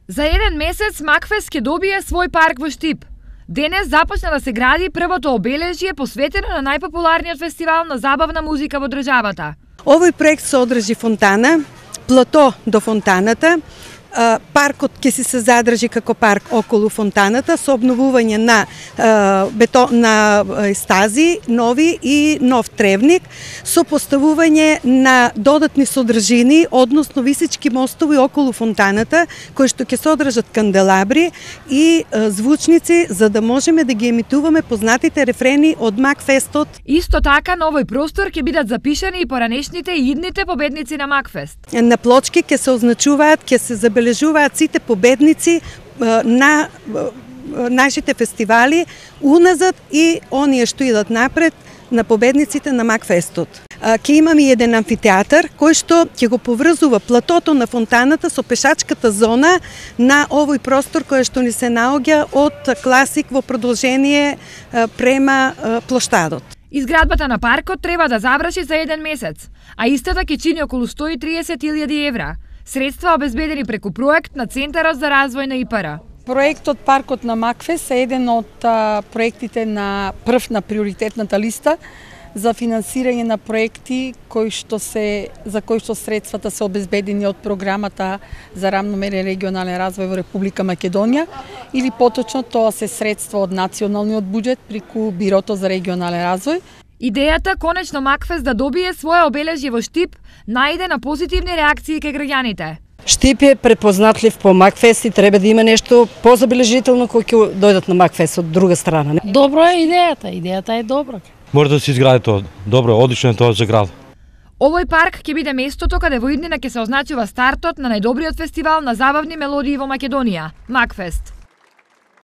За еден месец Макфест ќе добие свој парк во Штип. Денес започна да се гради првото обележје посветено на најпопуларниот фестивал на забавна музика во државата. Овој проект се одржи фонтана, плато до фонтаната. Паркот ќе се задржи како парк околу фонтаната со обновување на стази, нови и нов тревник, со поставување на додатни содржини, односно висечки мостови околу фонтаната, кои што ќе се одржат канделабри и звучници, за да можеме да ги емитуваме познатите рефрени од Макфестот. Исто така на овој простор ќе бидат запишани и поранешните и идните победници на Макфест. На плочки ќе се означуваат, ќе се забележуваат сите победници на нашите фестивали уназад и оние што идат напред на победниците на Макфестот. Ќе имаме и еден амфитеатар кој што ќе го поврзува платото на фонтаната со пешачката зона на овој простор кој што ни се наоѓа од Класик во продолжение према плоштадот. Изградбата на паркот треба да заврши за еден месец, а истата ќе чини околу 130.000 евра. Средства обезбедени преку проект на Центарот за развој на ИПР. Проектот Паркот на Макфест е еден од проектите на прв на приоритетната листа за финансирање на проекти за кои што средствата се обезбедени од програмата за рамномерен регионален развој во Република Македонија или поточно тоа се средства од националниот буџет преку Бирото за регионален развој. Идејата конечно Макфест да добие свое обележје во Штип најде на позитивни реакции кај граѓаните. Штип е препознатлив по Макфест и треба да има нешто позабележително кој ќе дојдат на Макфест од друга страна. Добро е идејата е добра. Може да се изгради тоа. Добро, одлично е тоа за град. Овој парк ќе биде местото каде во иднина ќе се означува стартот на најдобриот фестивал на забавни мелодии во Македонија, Макфест.